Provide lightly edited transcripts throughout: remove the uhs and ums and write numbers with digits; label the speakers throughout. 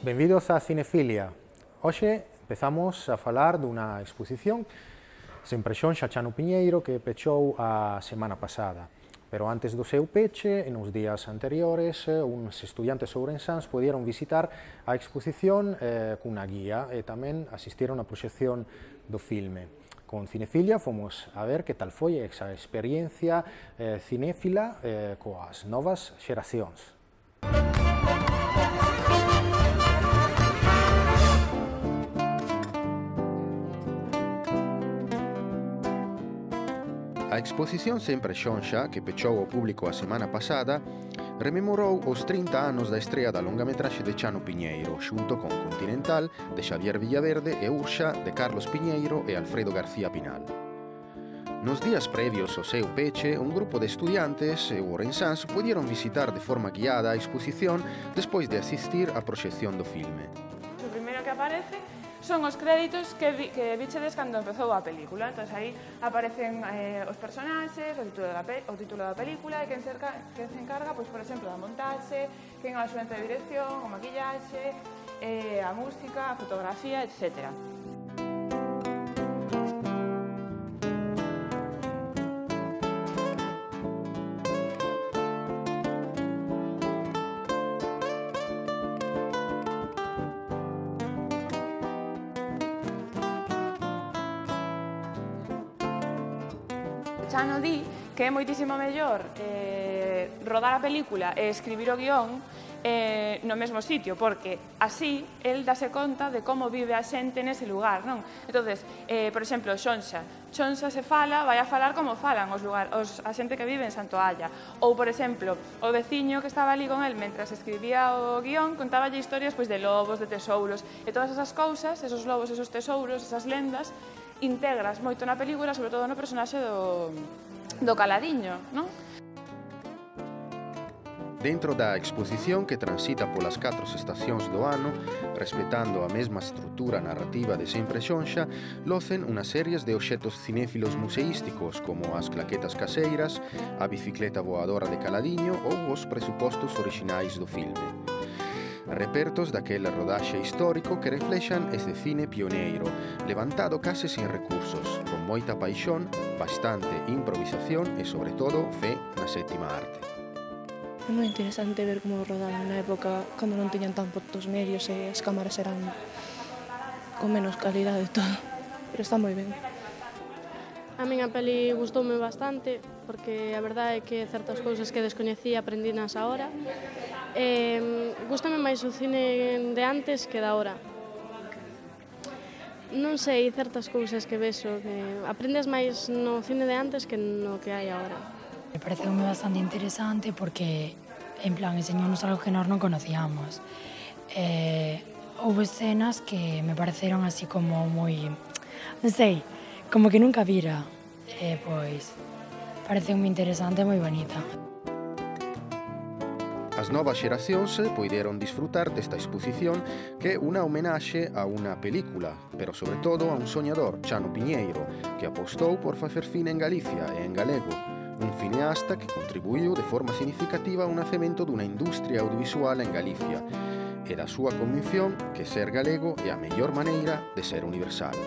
Speaker 1: Benvidos a Cinefilia. Hoxe empezamos a falar dunha exposición sen presión xa Chano Piñeiro que pechou a semana pasada. Pero antes do seu peche, nos días anteriores, uns estudiantes ourensáns poderon visitar a exposición cunha guía e tamén asistiron á proxección do filme. Con Cinefilia fomos a ver que tal foi esa experiencia cinéfila coas novas xeracións. A exposición Sempre Xonxa, que pechou ao público a semana pasada, rememorou os 30 anos da estrea da longametraxe de Chano Piñeiro, xunto con Continental, de Xavier Villaverde e Urxa, de Carlos Piñeiro e Alfredo García Pinal. Nos días previos ao seu peche, un grupo de estudiantes e ourensáns puderon visitar de forma guiada a exposición despois de asistir á proxección do filme.
Speaker 2: O primeiro que aparece son os créditos que vichedes cando empezou a película. Entón, aí aparecen os personaxes, o título da película e quen se encarga, pois, por exemplo, da montaxe, quen é o axudante de dirección, o maquillaxe, a música, a fotografía, etc. Chano di que é moitísimo mellor rodar a película e escribir o guión no mesmo sitio, porque así el dase conta de como vive a xente nese lugar, non? Entonces, por exemplo, Xonxa se fala, vai a falar como falan a xente que vive en Santoalla. Ou, por exemplo, o veciño que estaba ali con el mentras escribía o guión contáballe historias de lobos, de tesouros, e todas esas cousas, esos lobos, esos tesouros, esas lendas, integras moito na película, sobre todo no personaxe do Caladiño, non?
Speaker 1: Dentro da exposición que transita polas 4 estacións do ano, respetando a mesma estrutura narrativa de Sempre Xonxa, locen unhas series de obxetos cinéfilos museísticos como as claquetas caseiras, a bicicleta voadora de Caladiño ou os presupostos orixinais do filme. Repertos daquele rodaxe histórico que reflexan ese cine pioneiro, levantado case sin recursos, con moita paixón, bastante improvisación e, sobre todo, fe na sétima arte.
Speaker 3: É moi interesante ver como rodaban na época cando non tiñan tan poucos medios e as cámaras eran con menos calidade e todo, pero está moi ben.
Speaker 4: A min a peli gustoume bastante, porque a verdade é que certas cousas que descoñecía aprendinas agora. Gústame máis o cine de antes que da ahora. Non sei, certas cousas que vexo, que aprendes máis no cine de antes que no que hai agora.
Speaker 5: Me pareceume bastante interesante porque, en plan, enseñounos algo que nós non conocíamos. Houve escenas que me pareceron así como moi, non sei, como que nunca vira. Pois, pareceume interesante e moi bonita.
Speaker 1: As novas xeracións poideron disfrutar desta exposición que é unha homenaxe a unha película, pero sobre todo a un soñador, Chano Piñeiro, que apostou por facer cine en Galicia e en galego, un cineasta que contribuiu de forma significativa ao nacemento dunha industria audiovisual en Galicia, e da súa convicción que ser galego é a mellor maneira de ser universal.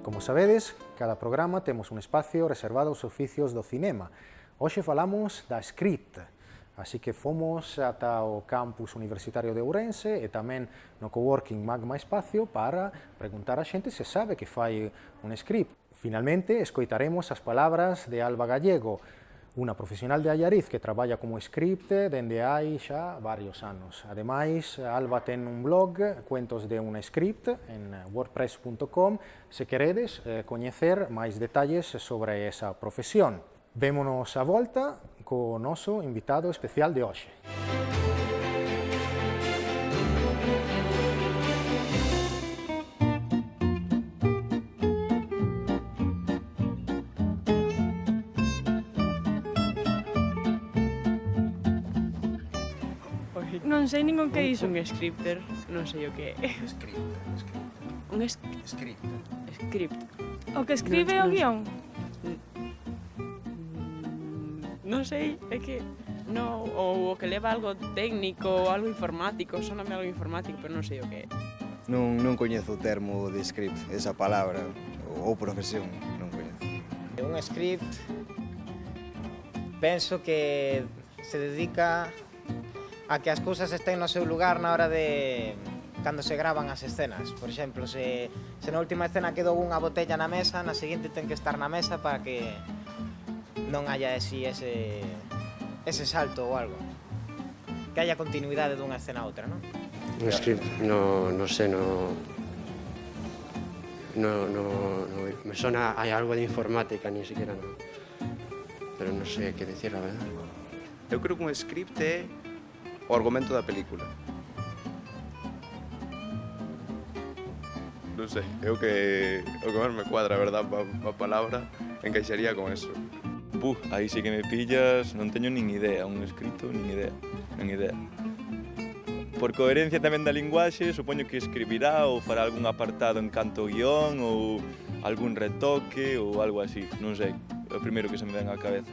Speaker 1: Como sabedes, cada programa temos un espacio reservado aos oficios do cinema. Hoxe falamos da script, así que fomos ata o campus universitario de Ourense e tamén no coworking Magma Espacio para preguntar a xente se sabe que fai un script. Finalmente, escoitaremos as palabras de Alba Gallego, unha profesional de Allariz que traballa como script dende hai xa varios anos. Ademais, Alba ten un blog, Cuentos de un script, en wordpress.com, se queredes coñecer máis detalles sobre esa profesión. Vémonos a volta co noso invitado especial de hoxe.
Speaker 6: Non sei nin o que é iso un scripter, non sei o que é. Un script. O que escribe o guión? Non sei, é que No, ou o que leva algo técnico ou algo informático, soname algo informático, pero non sei o que é.
Speaker 7: Non coñezo o termo de script, esa palabra, ou profesión, non coñezo.
Speaker 8: Un script penso que se dedica a que as cousas estén no seu lugar na hora de cando se gravan as escenas. Por exemplo, se na última escena quedou unha botella na mesa, na seguinte ten que estar na mesa para que non haya ese salto ou algo. Que haya continuidade dunha escena a outra, non?
Speaker 9: Un script, no sé, no me suena, hay algo de informática, ni siquiera no. Pero no sé qué decir, la verdad.
Speaker 10: Eu creo que un script é o argumento da película. Non sei, é o que máis me cuadra, a verdad, a palabra encaixaría con eso.
Speaker 11: Aí sí que me pillas, non teño nin idea, un escrito, nin idea. Por coherencia tamén da linguaxe, supoño que escribirá ou fará algún apartado en canto guión ou algún retoque ou algo así, non sei, é o primeiro que se me ven á cabeza.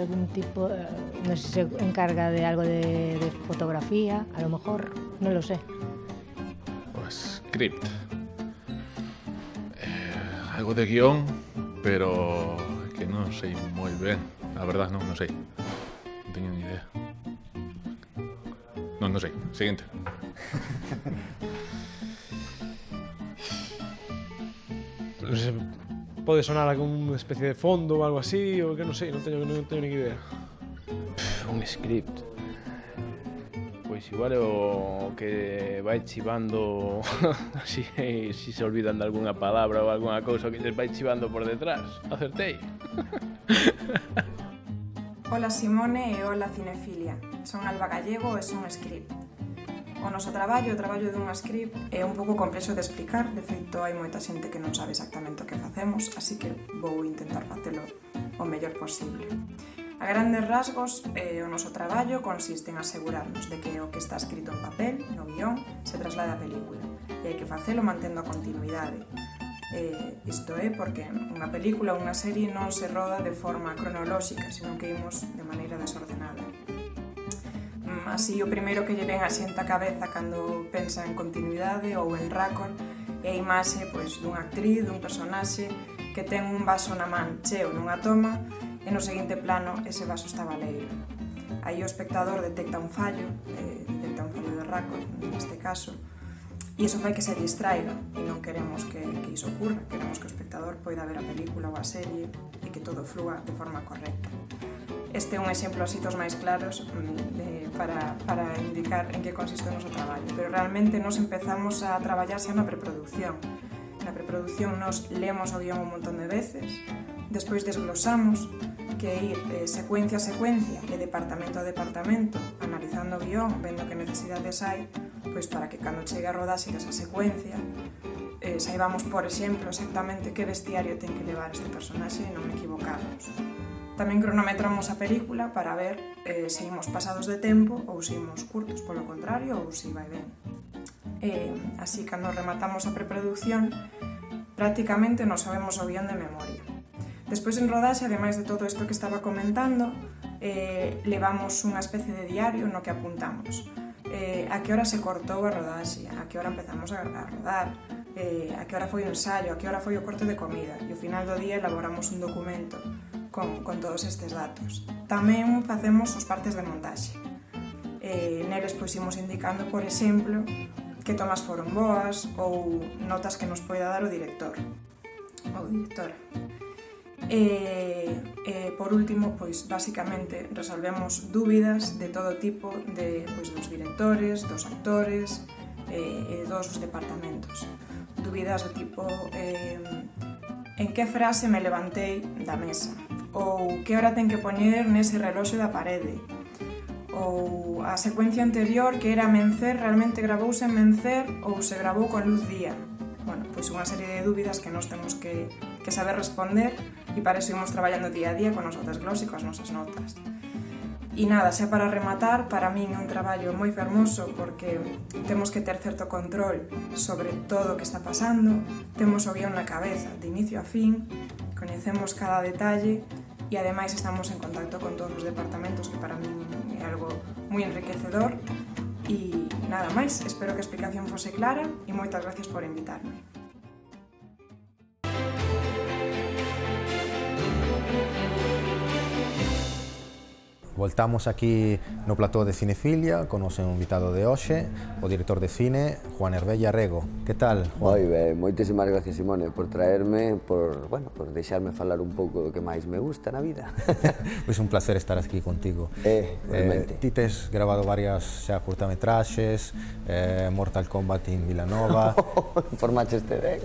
Speaker 12: Algún tipo, no sé si se encarga de algo de fotografía, a lo mejor, no lo sé.
Speaker 13: O script. Algo de guión, pero que non sei moi ben. A verdad, non sei. Non teño ni idea. Non sei. Siguiente.
Speaker 14: Non sei, pode sonar algún especie de fondo ou algo así, ou que non sei, non teño nin idea.
Speaker 15: Un script. Pois igual o que vai chivando así, si se olvidan de algunha palabra ou algunha cousa que les vai chivando por detrás. Acertei.
Speaker 16: Hola Simone e hola Cinefilia. Son Alba Gallego e son script. O noso traballo, o traballo dun script, é un pouco complexo de explicar. De feito, hai moita xente que non sabe exactamente o que facemos, así que vou intentar facelo o mellor posible. A grandes rasgos, o noso traballo consiste en asegurarnos de que o que está escrito en papel, no guión, se traslade á película. E hai que facelo mantendo a continuidade. Isto é porque unha película ou unha serie non se roda de forma cronolóxica, senón que imos de maneira desordenada. Así, o primeiro que lle ven a xente a cabeza cando pensa en continuidade ou en raccord é a imaxe dunha actriz, dun personaxe que ten un vaso na man cheo nunha toma e no seguinte plano ese vaso está baleiro. Aí o espectador detecta un fallo de raccord neste caso, e iso fai que se distraiga e non queremos que iso ocurra, queremos que o espectador poida ver a película ou a serie e que todo flúa de forma correcta. Este é un exemplo así dos máis claros para indicar en que consiste o noso traballo, pero realmente nos empezamos a traballar xa na preproducción. Na preproducción nos lemos o guión un montón de veces, despois desglosamos que ir secuencia a secuencia e departamento a departamento, analizando o guión, vendo que necesidades hai, pois para que cando chegue a rodaxe desa secuencia saibamos, por exemplo, exactamente que vestiario ten que levar este personaxe e non equivocarnos. Tamén cronometramos a película para ver se imos pasados de tempo ou se imos curtos, polo contrario, ou se vai ben. Así, cando rematamos a preproducción, prácticamente nos sabemos o guión de memoria. Despois, en rodaxe, ademais de todo isto que estaba comentando, levamos unha especie de diario no que apuntamos a que hora se cortou a rodaxe, a que hora empezamos a rodar, a que hora foi o ensaio, a que hora foi o corte de comida, e ao final do día elaboramos un documento con todos estes datos. Tamén facemos os partes de montaxe. Neles pois imos indicando, por exemplo, que tomas foron boas ou notas que nos poida dar o director ou directora. Por último, pois basicamente resolvemos dúbidas de todo tipo dos directores, dos actores e dos departamentos. Dúbidas do tipo en que frase me levantei da mesa, ou que hora ten que poñer nese reloxo da parede, ou a secuencia anterior que era mencer realmente gravouse en mencer ou se gravou con luz día. Bueno, pois pois unha serie de dúbidas que nós temos que saber responder e para iso imos traballando día a día con nosos desglós e coas nosas notas. E nada, xa para rematar, para min é un traballo moi fermoso porque temos que ter certo control sobre todo o que está pasando, temos o guión na cabeza de inicio a fin, coñecemos cada detalle e ademais estamos en contacto con todos os departamentos que para min é algo moi enriquecedor e nada máis, espero que a explicación fose clara e moitas gracias por invitarme.
Speaker 1: Voltamos aquí no plató de Cinefilia con o seu invitado de hoxe, o director de cine, Juan Herbella Rego. Que tal, Juan?
Speaker 17: Moi ben, moitísimas gracias, Simone, por traerme, por deixarme falar un pouco do que máis me gusta na vida.
Speaker 1: Pois un placer estar aquí contigo.
Speaker 17: Realmente.
Speaker 1: Ti tes grabado varias xa curtametraxes, Mortal Kombat in Vilanova.
Speaker 17: Formaches te ben.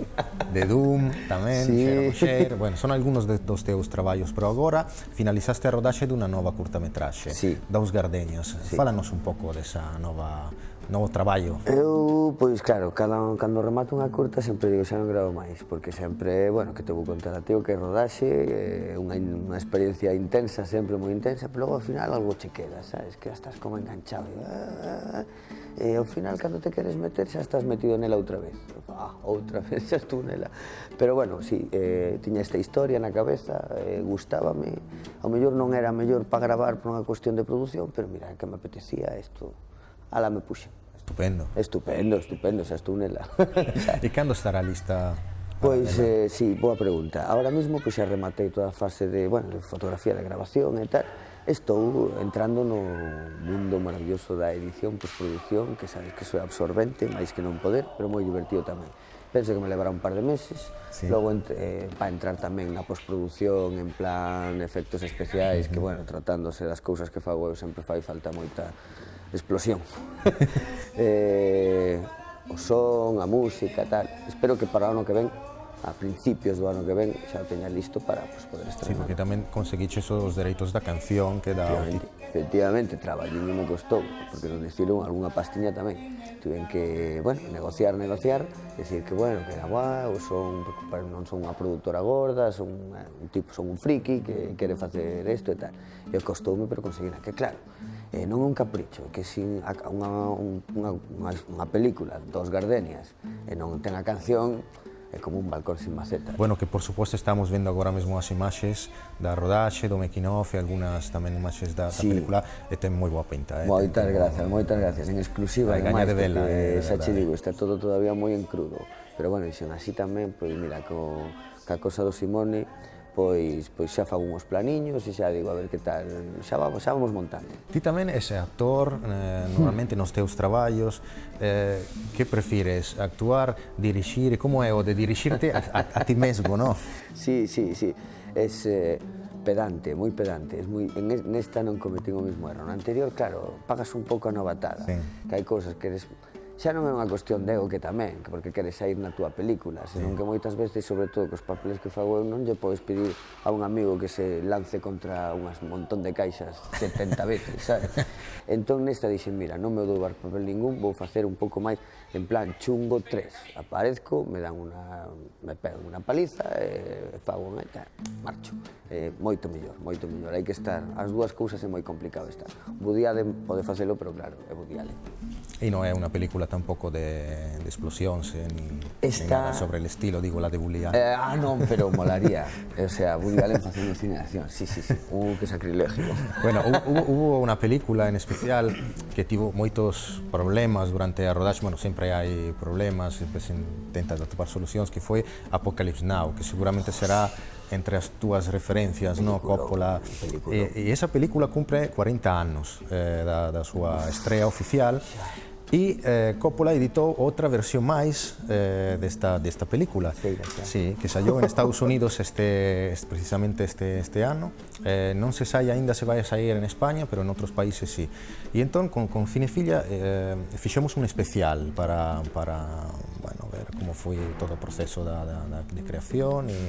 Speaker 1: De Doom tamén,
Speaker 17: Sí.
Speaker 1: Xero, bueno, son algúns dos teus traballos, pero agora finalizaste a rodaxe dunha nova curtametraxe.
Speaker 17: Sí.
Speaker 1: Daos Gardeños.
Speaker 17: Sí.
Speaker 1: Fálanos un pouco desa novo traballo.
Speaker 17: Eu, pois claro, cando remato unha curta sempre digo xa non gravo máis, porque sempre, bueno, que te vou contar a ti o que é rodaxe, unha experiencia intensa, sempre moi intensa, pero logo ao final algo che queda, sabes, que estás como enganchado e ao final cando te queres meter xa estás metido nela outra vez. Outra vez xa estou nela. Pero bueno, sí, tiña esta historia na cabeza, gustábame, ao mellor non era mellor para gravar por unha cuestión de produción, pero mira, que me apetecía isto, ala me puxe.
Speaker 1: Estupendo.
Speaker 17: Estupendo, xa estou nela.
Speaker 1: E cando estará lista?
Speaker 17: Pois, sí, boa pregunta. Ahora mesmo pois xa rematei toda a fase de fotografía, de grabación e tal. Estou entrando no mundo maravilloso da edición, postproducción, que sabes que iso é absorbente, máis que non poder, pero moi divertido tamén. Penso que me levará un par de meses, logo para entrar tamén na postproducción, en plan efectos especiais, que, bueno, tratándose das cousas que fago eu sempre fai falta moita explosión. O son, a música, tal. Espero que para o ano que ven, a principios do ano que ven, xa o teña listo para poder estrenar.
Speaker 1: Sí, porque tamén conseguiches os dereitos da canción que dá...
Speaker 17: Efectivamente, traballín me costou, porque non decidiron algunha pastiña tamén. Tuven que, negociar, decir que, que era guau, non son unha produtora gorda, son un friki que quere facer isto e tal. E costoume, pero conseguina, que claro, non é un capricho, que sin unha película dos Gardenias e non ten a canción, é como un balcón sin maceta.
Speaker 1: Bueno, que por suposto estamos vendo agora mesmo as imaxes da rodaxe, do making of e algunhas tamén imaxes da película e ten moi boa pinta.
Speaker 17: Moitas gracias, en exclusiva, ademais, porque xa che digo, está todo todavía moi en crudo, pero bueno, dixen así tamén, pois mira, ca cosa do Simone, pois xa fago uns planiños e xa digo, a ver que tal, xa vamos montando.
Speaker 1: Ti tamén ese actor, normalmente nos teus traballos, que prefires, actuar, dirixir, como é o de dirixirte a ti mesmo, non?
Speaker 17: Sí, es pedante, moi pedante, nesta non cometín o mesmo erro, no anterior, claro, pagas un pouco a novatada, que hai cousas que eres... Xa non é unha cuestión de ego que tamén, porque queres sair na túa película, senón que moitas veces, sobre todo cos papeles que fago eu, non lle podes pedir a un amigo que se lance contra un montón de caixas 70 veces, sabes? Entón nesta dixen, mira, non me dou papel ningún, vou facer un pouco máis, en plan chungo 3, aparezco, me pegan unha paliza, fago unha e tal, marcho. Moito mellor, hai que estar, as dúas cousas é moi complicado estar. Woody Allen pode facelo, pero claro, é Woody Allen.
Speaker 1: E non é unha película tampouco de explosións, ni nada sobre el estilo, digo, la de Woody Allen.
Speaker 17: Non, pero molaría. O sea, Woody Allen facendo cine de acción, sí. Que sacrilegio.
Speaker 1: Bueno, hubo unha película en especial que tivo moitos problemas durante a rodaxe, bueno, sempre hai problemas, sempre se intenta atopar solucións, que foi Apocalypse Now, que seguramente será entre as túas referencias, no, Coppola. E esa película cumpre 40 anos da súa estrea oficial. E Coppola editou outra versión máis desta película, que saiu en Estados Unidos precisamente este ano. Non se sai aínda se vai a sair en España, pero en outros países sí. E entón, con Cinefilia, fixemos un especial para ver como foi todo o proceso de creación e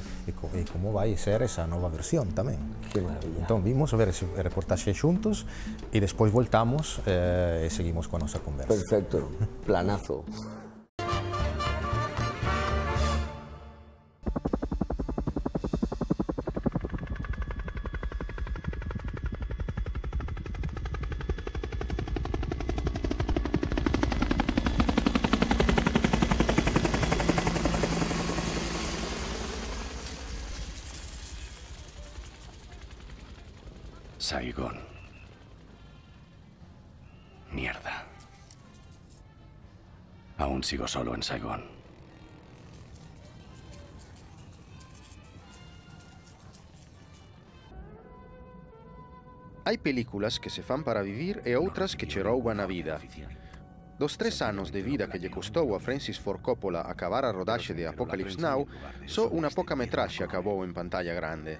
Speaker 1: como vai ser esa nova versión tamén.
Speaker 17: Que maravilla.
Speaker 1: Entón, vimos ver ese reportaxe xuntos e despois voltamos e seguimos coa nosa conversa.
Speaker 17: Perfecto, planazo.
Speaker 18: Mierda. Aún sigo solo en Saigón.
Speaker 19: Hai películas que se fan para vivir e outras que che rouban a vida. Dos 3 anos de vida que lle custou a Francis Ford Coppola acabar a rodaxe de Apocalypse Now, só unha poca metraxe acabou en pantalla grande.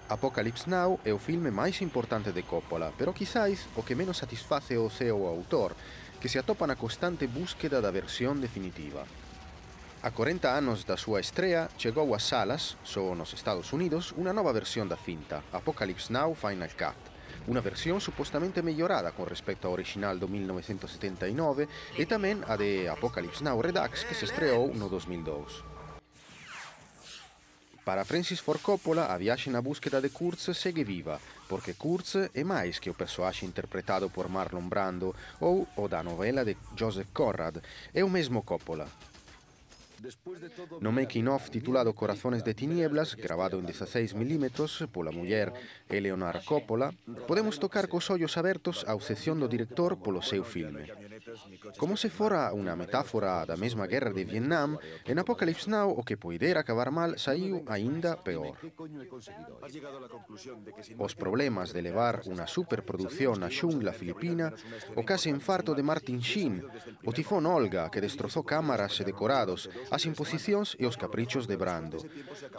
Speaker 19: Apocalypse Now é o filme máis importante de Coppola, pero quizáis o que menos satisface o seu autor, que se atopa na constante búsqueda da versión definitiva. A 40 anos da súa estrea, chegou ás salas, só nos Estados Unidos, unha nova versión da cinta, Apocalypse Now Final Cut, unha versión supostamente mellorada con respecto ao original do 1979 e tamén a de Apocalypse Now Redux que se estreou no 2002. Para Francis Ford Coppola, a viaxe na búsqueda de Kurtz segue viva, porque Kurtz é máis que o persoaxe interpretado por Marlon Brando ou o da novela de Joseph Conrad, é o mesmo Coppola. No making-of titulado Corazones de Tinieblas, grabado en 16 mm pola muller Eleonora Coppola, podemos tocar cos ollos abertos a obsesión do director polo seu filme. Como se fora unha metáfora da mesma guerra de Vietnam, en Apocalypse Now o que poidera acabar mal saiu aínda peor. Os problemas de levar unha superproducción á xungla filipina, o case infarto de Martin Sheen, o tifón Olga que destrozou cámaras e decorados, as imposicións e os caprichos de Brando.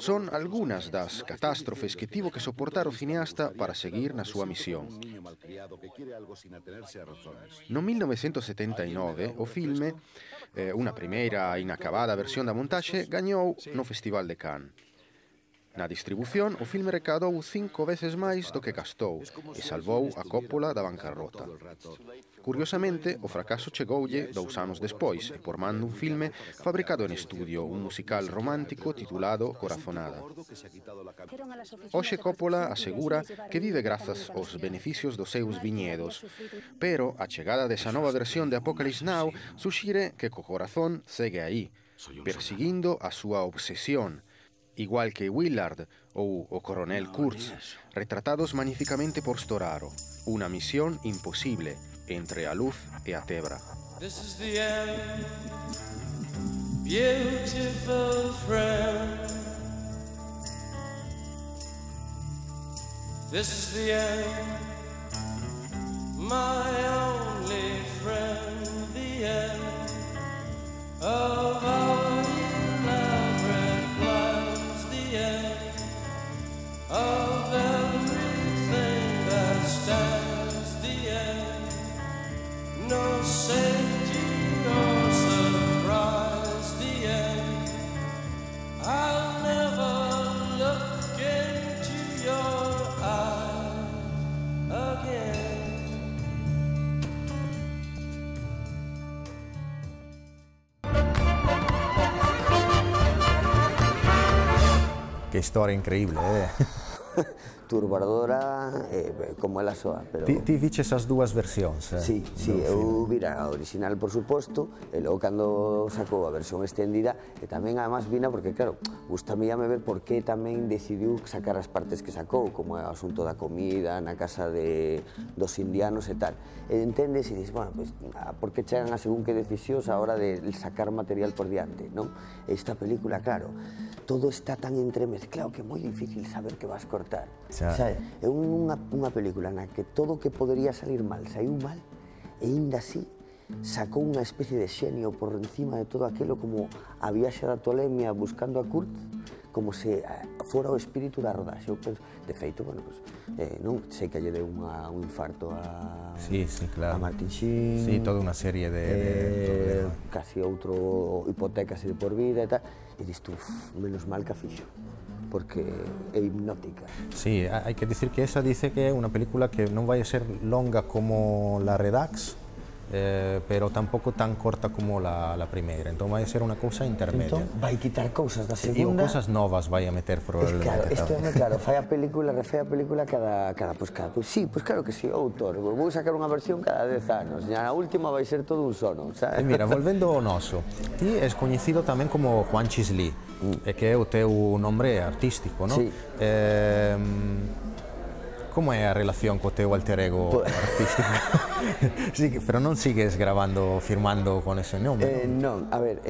Speaker 19: Son algunhas das catástrofes que tivo que soportar o cineasta para seguir na súa misión. No 1979, o filme, unha primeira inacabada versión da montaxe, gañou no Festival de Cannes. Na distribución, o filme recaudou 5 veces máis do que gastou e salvou a Coppola da bancarrota. Curiosamente, o fracaso chegoulle 2 anos despois e por man dun filme fabricado en estudio, un musical romántico titulado Corazonada. Hoxe Coppola asegura que vive grazas aos beneficios dos seus viñedos, pero a chegada desa nova versión de Apocalypse Now suxire que co corazón segue aí, perseguindo a súa obsesión, igual que Willard ou o coronel Kurtz, retratados magnificamente por Storaro, unha misión imposible entre a luz e a tebra.
Speaker 20: This is the end, beautiful friend. This is the end, my only friend, the end of our elaborate plans, the end of everything that stands, the end, no safety or surprise, the end. I'll never look into your eyes again.
Speaker 1: Qué historia increíble,
Speaker 17: Turbadora, como ela soa. Pero...
Speaker 1: Ti viches as dúas versións,
Speaker 17: Sí, eu vira a original, por suposto, e logo cando sacou a versión extendida, e tamén además vina porque, claro, gustame ver por que tamén decidiu sacar as partes que sacou, como é o asunto da comida, na casa dos indianos e tal. E entendes e dices, bueno, pues, por que chegan a según que decisións a hora de sacar material por diante, non? Esta película, claro, todo está tan entremezclado que é moi difícil saber que vas cortar. É unha película na que todo o que podería salir mal saiu mal e ainda así sacou unha especie de xenio por encima de todo aquilo, como a viaxe da tolemia buscando a Kurt, como se fora o espírito da rodaxe. Eu penso, de feito, bueno, pues, non sei que lle deu un infarto a Martin Sheen.
Speaker 1: Sí, toda unha serie de
Speaker 17: casi outro hipotecas de por vida e tal, e diste, menos mal que a fixo, porque é hipnótica.
Speaker 1: Sí, hai que dicir que esa dice que é unha película que non vai a ser longa como la Redux, pero tampouco tan corta como la primeira, entón vai a ser unha cousa intermedia.
Speaker 17: Entón vai quitar cousas da segunda.
Speaker 1: E cousas novas vai a meter probablemente.
Speaker 17: Claro, fai a película, refai a película cada sí, pues claro que sí, autor, vou sacar unha versión cada 10 anos, e a última vai ser todo un sono, sabes?
Speaker 1: Mira, volvendo ao noso, ti és coñecido tamén como Juan Chis Lee, que é o teu nombre artístico, non?
Speaker 17: Sí.
Speaker 1: como é a relación co teu alter ego artístico? Sí, pero non sigues grabando, firmando con ese nome?
Speaker 17: Non, a ver,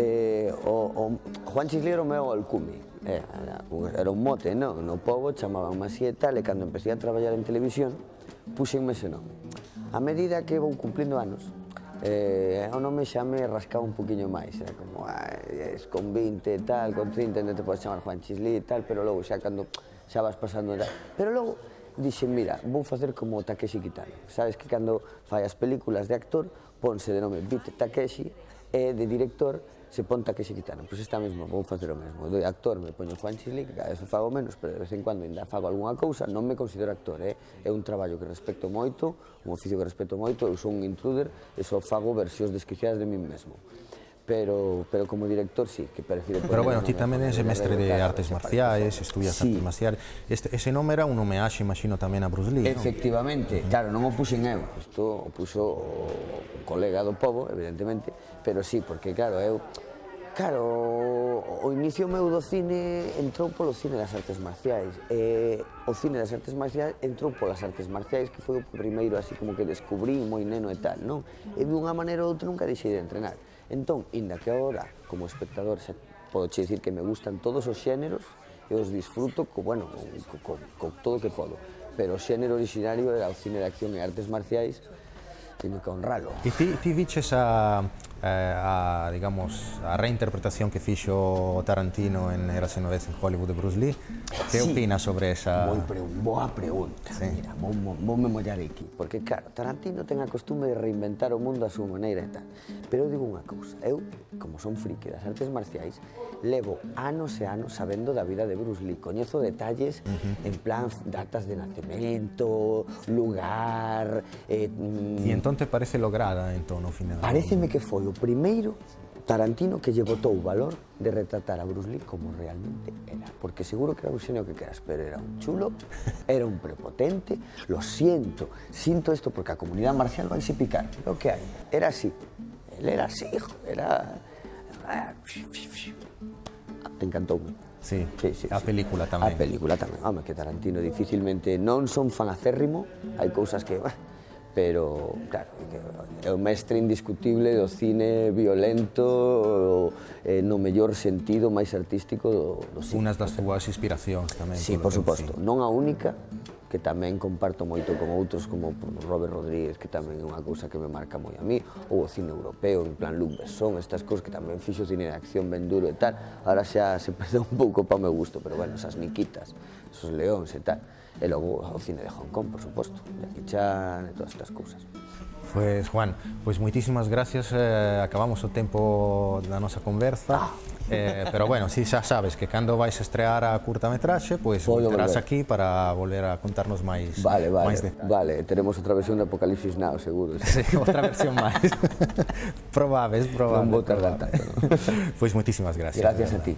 Speaker 17: o Juan Chisli era o meu alcume. Era un mote, non? No pobo chamaban así e tal, e cando empecé a traballar en televisión, puxenme ese nome. A medida que vou cumplindo anos, o nome xa me rascaba un poquinho máis, era como, con 20 e tal, con 30 non te podes chamar Juan Chisli e tal, pero logo xa cando xa vas pasando e tal. Pero logo dixen, mira, vou facer como Takeshi Kitano. Sabes que cando fai as películas de actor, ponse de nome Beat Takeshi, e de director se pon Takeshi Kitano. Pois está mesmo, vou facer o mesmo. De actor me poño Juan Chisli, que cada vez o fago menos, pero de vez en cuando ainda fago algunha cousa, non me considero actor, é un traballo que respeto moito, un oficio que respeto moito, eu sou un intruder e só fago versións desquiciadas de mí mesmo. Pero como director sí, que prefiro...
Speaker 1: Pero bueno, ti tamén és mestre de artes marciais, estudias artes marciais. Ese nome era un homenaxe, imagino, tamén a Bruce Lee, non?
Speaker 17: Efectivamente, claro, non o puxen eu, isto o puxo o colega do pobo, evidentemente, pero sí, porque claro, o inicio meu do cine entrou polo cine das artes marciais, e o cine das artes marciais entrou polas artes marciais, que foi o primeiro así como que descubrí moi neno e tal, non? E de unha maneira ou outra nunca deixei de entrenar. Entón, inda que agora, como espectador, podo che dicir que me gustan todos os xéneros e os disfruto co todo o que podo. Pero o xénero originario era o cine de acción e artes marciais, teño que honralo.
Speaker 1: E ti viches digamos, a reinterpretación que fixo Tarantino en Érase unha vez en Hollywood de Bruce Lee. Que opinas sobre esa...
Speaker 17: Boa pregunta, mira, voume mollar aquí. Porque, claro, Tarantino ten a costume de reinventar o mundo a súa maneira e tal. Pero eu digo unha cousa, eu, como son friki das artes marciais, levo anos e anos sabendo da vida de Bruce Lee. Coñezo detalles en plan datas de nacemento, lugar...
Speaker 1: E entón te parece lograda, entón, ao final?
Speaker 17: Pareceme que foi o primeiro Tarantino que lle botou o valor de retratar a Bruce Lee como realmente era. Porque seguro que era un xenio que queras, pero era un chulo, era un prepotente, lo siento isto porque a comunidade marcial vaise picar, lo que hai. Era así, él era así, hijo, era... Te encantoume.
Speaker 1: Sí, a película tamén.
Speaker 17: A película tamén, home, que Tarantino dificilmente non son fan acérrimo, hai cousas que... Pero, claro, é o mestre indiscutible do cine violento no mellor sentido máis artístico do cine.
Speaker 1: Unas das túas inspiracións tamén.
Speaker 17: Sí, por suposto. Non a única, que tamén comparto moito con outros como Robert Rodríguez, que tamén é unha cousa que me marca moi a mí, ou o cine europeo, en plan Luc Besson, estas cousas que tamén fixo cine de acción ben duro e tal. Ahora xa se perdeu un pouco para o meu gusto, pero bueno, esas Nikitas, esos Leóns e tal. E logo o cine de Hong Kong, por suposto, Jackie Chan e todas estas cousas.
Speaker 1: Pois, Juan, moitísimas gracias, acabamos o tempo da nosa conversa, pero bueno, si xa sabes que cando vais estrear a curtametraxe, pois terás aquí para volver a contarnos máis detalles.
Speaker 17: Vale, teremos outra versión de Apocalipsis Now, seguro.
Speaker 1: Sí, outra versión máis. Probables.
Speaker 17: Non vou tardar tanto.
Speaker 1: Pois moitísimas gracias.
Speaker 17: Gracias a ti.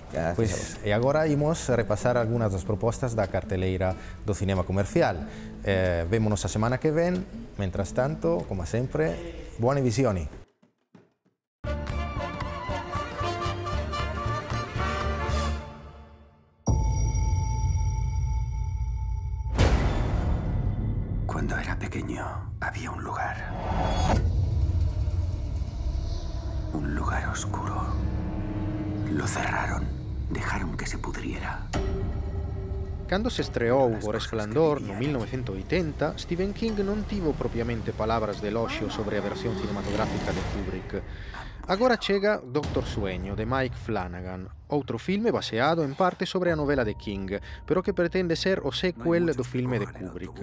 Speaker 1: E agora imos repasar algunhas das propostas da carteleira do cinema comercial. Vémonos a semana que ven, mentras tanto, como sempre, buone visioni.
Speaker 18: Cuando era pequeño, había un lugar oscuro. Lo cerraron, dejaron que se pudriera.
Speaker 19: Cando se estreou O Resplandor no 1980, Stephen King non tivo propiamente palabras de eloxio sobre a versión cinematográfica de Kubrick. Agora chega Doctor Sueño, de Mike Flanagan, outro filme baseado en parte sobre a novela de King, pero que pretende ser o sequel do filme de Kubrick.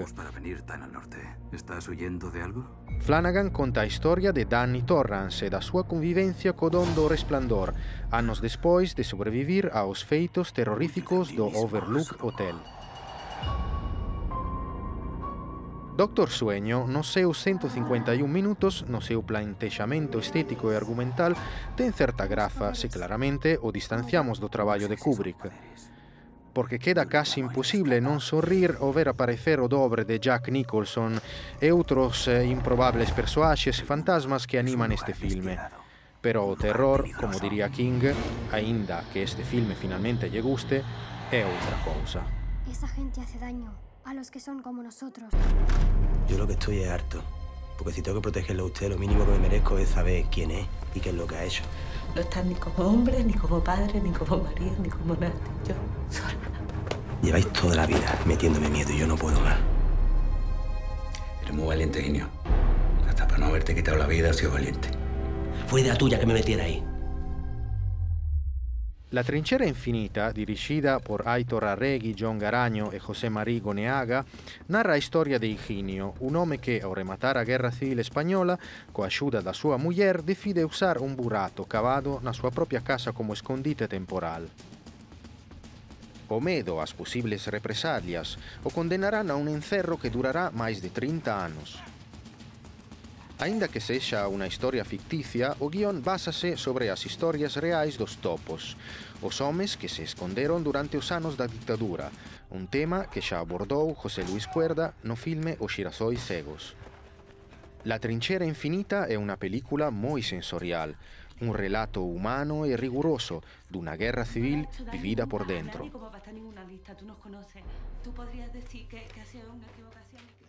Speaker 18: ¿Estás huyendo de algo?
Speaker 19: Flanagan conta a historia de Danny Torrance e da súa convivencia co don do Resplandor, anos despois de sobrevivir aos feitos terroríficos do Overlook Hotel. Doctor Sueño, nos seus 151 minutos, no seu plantexamento estético e argumental, ten certa graza se claramente o distanciamos do traballo de Kubrick. Porque queda casi imposible non sorrir ao ver aparecer o dobre de Jack Nicholson e outros improbables persoaxes e fantasmas que animan este filme. Pero o terror, como diría King, aínda que este filme finalmente lle guste, é outra cousa.
Speaker 21: Esa gente hace daño a los que son como nosotros.
Speaker 22: Yo lo que estoy es harto. Porque si tengo que protegerlo a usted, lo mínimo que me merezco es saber quién es y qué es lo que ha hecho.
Speaker 23: No estás ni como hombre, ni como padre, ni como marido, ni como nadie. Yo sola.
Speaker 22: Lleváis toda la vida metiéndome miedo y yo no puedo más.
Speaker 18: Eres muy valiente, Ginio. Hasta para no haberte quitado la vida has sido valiente.
Speaker 22: Fue idea tuya que me metiera ahí.
Speaker 19: La trinchera infinita, dirigida por Aitor Arregui, John Garaño e José María Goneaga, narra a historia de Higinio, un home que, ao rematar a Guerra Civil Española, coa axuda da súa muller, decide usar un burato cavado na súa propia casa como escondite temporal. O medo ás posibles represalias o condenarán a un encerro que durará máis de 30 anos. Aínda que sexa unha historia ficticia, o guión básase sobre as historias reais dos topos, os homes que se esconderon durante os anos da ditadura, un tema que xa abordou José Luis Cuerda no filme Os xirasois cegos. La trinchera infinita é unha película moi sensorial, un relato humano e riguroso dunha guerra civil vivida por dentro.
Speaker 23: Como va a estar ninguna lista, tú nos conoces. Tú podrías decir que ha sido una equivocación.